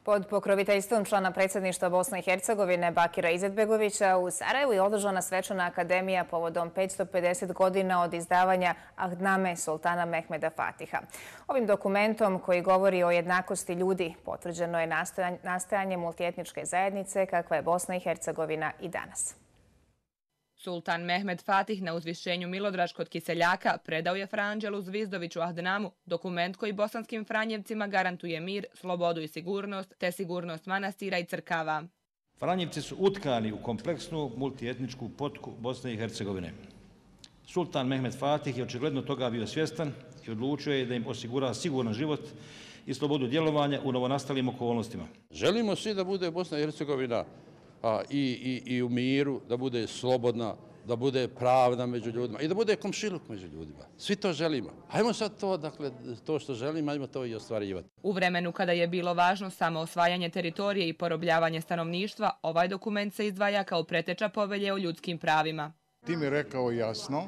Pod pokroviteljstvom člana predsjedništva Bosne i Hercegovine Bakira Izetbegovića u Sarajevu je održana svečana akademija povodom 550 godina od izdavanja Ahdname sultana Mehmeda Fatiha. Ovim dokumentom koji govori o jednakosti ljudi potvrđeno je nastojanje multietničke zajednice kakva je Bosna i Hercegovina i danas. Sultan Mehmed Fatih na uzvišenju Milodraž kod Kiseljaka predao je Fra Anđelu Zvizdoviću Ahdnamu, dokument koji bosanskim Franjevcima garantuje mir, slobodu i sigurnost, te sigurnost manastira i crkava. Franjevci su utkani u kompleksnu multietničku potku Bosne i Hercegovine. Sultan Mehmed Fatih je očigledno toga bio svjestan i odlučio je da im osigura siguran život i slobodu djelovanja u novonastalim okolnostima. Želimo svi da bude Bosna i Hercegovina i u miru, da bude slobodna, da bude pravda među ljudima i da bude komšiluk među ljudima. Svi to želimo. Ajmo sad to, dakle, to što želimo, ajmo to i ostvarivati. U vremenu kada je bilo važno samo osvajanje teritorije i porobljavanje stanovništva, ovaj dokument se izdvaja kao preteča povelje o ljudskim pravima. Tim je rekao jasno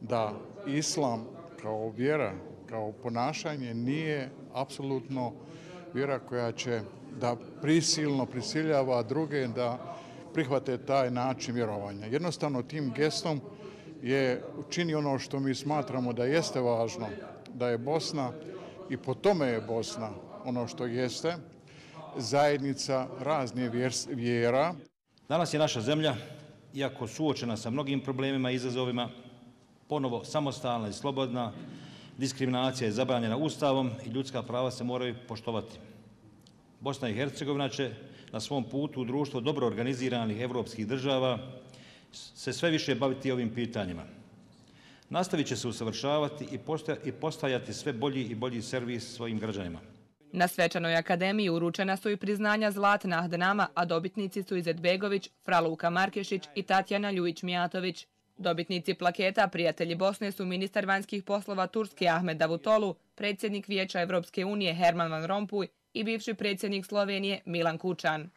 da islam kao vjera, kao ponašanje nije apsolutno vjera koja će da prisilno prisiljava druge da prihvate taj način vjerovanja. Jednostavno tim gestom je učinio ono što mi smatramo da jeste važno, da je Bosna i po tome je Bosna ono što jeste, zajednica raznih vjera. Danas je naša zemlja, iako suočena sa mnogim problemima i izazovima, ponovo samostalna i slobodna, diskriminacija je zabranjena Ustavom i ljudska prava se moraju poštovati. Bosna i Hercegovina će na svom putu u društvo dobro organiziranih evropskih država se sve više baviti ovim pitanjima. Nastavit će se usavršavati i postajati sve bolji i bolji servis svojim građanima. Na svečanoj akademiji uručena su i priznanja Zlatna Ahdnama, a dobitnici su Izetbegović, Fra Luka Markešić i Tatjana Ljujić-Mijatović. Dobitnici plaketa Prijatelji Bosne su ministar vanjskih poslova Turske Ahmed Davutolu, predsjednik Vijeća Evropske unije Herman Van Rompuy i bivši predsjednik Slovenije Milan Kučan.